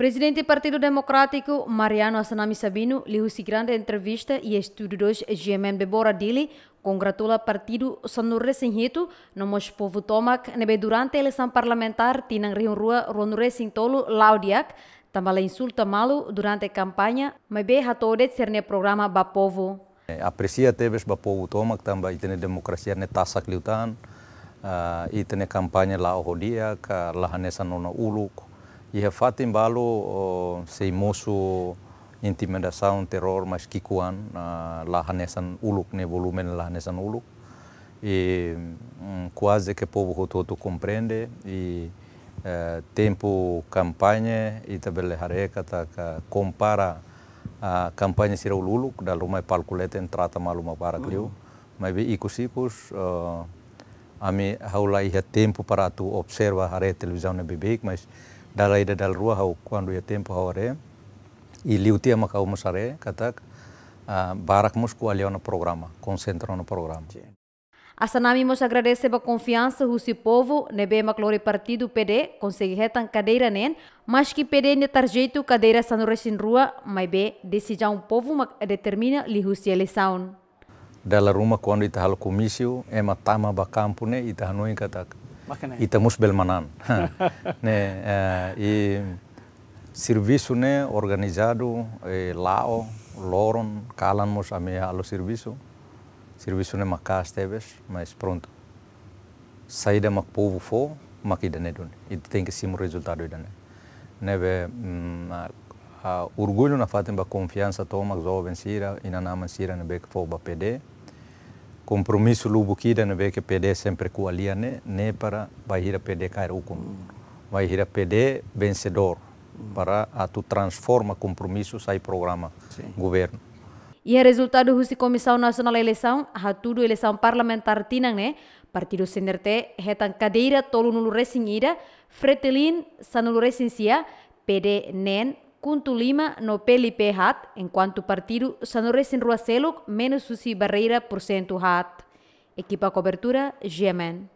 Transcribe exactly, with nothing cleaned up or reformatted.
Prezidente Partidu Demokrátiku, Mariano Assanami Sabino, liuhusi grande entrevista iha estúdiu dois G M N Bebora Dili, kongratula partidu sanulu-resin-hitu, no mós povu tomak ne'ebé durante eleisaun parlamentár tinan rihun rua ruanulu-resin-tolu la'o di'ak, tanba la insulta malu durante kampaña, maibé hato'o de'it sira-nia programa ba povu. Eh, apresia tebes ba povu tomak tanba ita-nia demokrasia ne'e tasak liután, ah, ita-nia kampaña la'o ho di'ak, ka la hanesan ona uluk. Iha fatin balu, oh, sei mosu intimidasaun, terrór, mas ki'ikoan, ah, la hanesan uluk, ne'e volume la hanesan uluk. I, mm, kuaze ke povu hotu-hotu komprende, i, eh, tempu kampaña, ita bele haree katak kompara, ah, kampaña sira uluk-uluk, dala ruma palku leten trata malu mak barak liu. Maibé ikus-ikus, eh, ami ha'u la iha tempu para atu observa haree televizaun ne'e beibeik, mas dala ida dala rua ha'u kuandu iha tempu ha'u haree, i liu tiha mak ha'u mós haree, katak, ah, barak mós ko'alia ona programa, konsentra ona programa. Assanami mós agradese ba konfiansa husi povu ne'ebé mak lori partidu P D konsege hetan kadeira neen, maski P D nia tarjetu kadeira sanulu-resin-rua, maibé desizaun povu mak determina liuhusi eleisaun. Dala ruma kuandu ita halo komísiu, ema tama ba kampu ne'e, ita hanoin katak ita mós bele manán. Ne'e, eh, i servisu ne'e organizadu, eh, la'o, loron, kalan mós ami halo servisu. Servisu ne'e maka'as tebes, mas prontu. Saida mak povu fó, mak ida-ne'e duni. Ita tenke simu rezultadu ida-ne'e. Ne'ebé, mm, ah, ah, orgullu nafatin ba konfiansa tomak joven sira, inan-aman sira ne'ebé ke fó ba P D. Kompromisu lubuk ida ne'ebé ke P D sempre ko'alia ne'e, ne'e para bainhira P D kaer ukun. Bainhira P D vensedór para atu transforma kompromisu sai programa governu. Iha rezultadu husi Komisaun Nasionál Eleisaun hatudu eleisaun parlamentár tinan ne'e, partidu C N R T hetan kadeira tolunulu-resin-ida, Fretilin sanulu-resin-sia, P D neen, KHUNTO lima no P L P haat, enkuantu partidu sanulu-resin-rua seluk menus husi barreira pursentu haat. Ekipa kobertura, G M N.